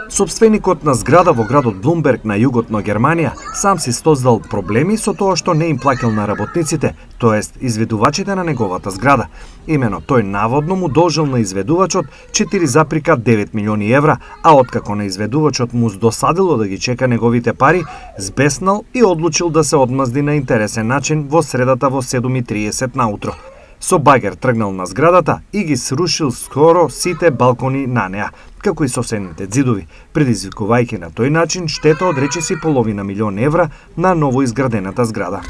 Собственикот на зграда во градот Блумберг на југот на Германија сам си создал проблеми со тоа што не им плаќал на работниците, тоест изведувачите на неговата зграда. Имено тој наводно му должел на изведувачот 4,9 милиони евра, а откако на изведувачот му досадило да ги чека неговите пари, збеснал и одлучил да се одмазди на интересен начин во средата во 7:30 наутро. Со багер тргнал на зградата и ги срушил скоро сите балкони на неа, како и соседните ѕидови, предизвикувајќи на тој начин штета од речиси половина милион евра на ново изградената зграда.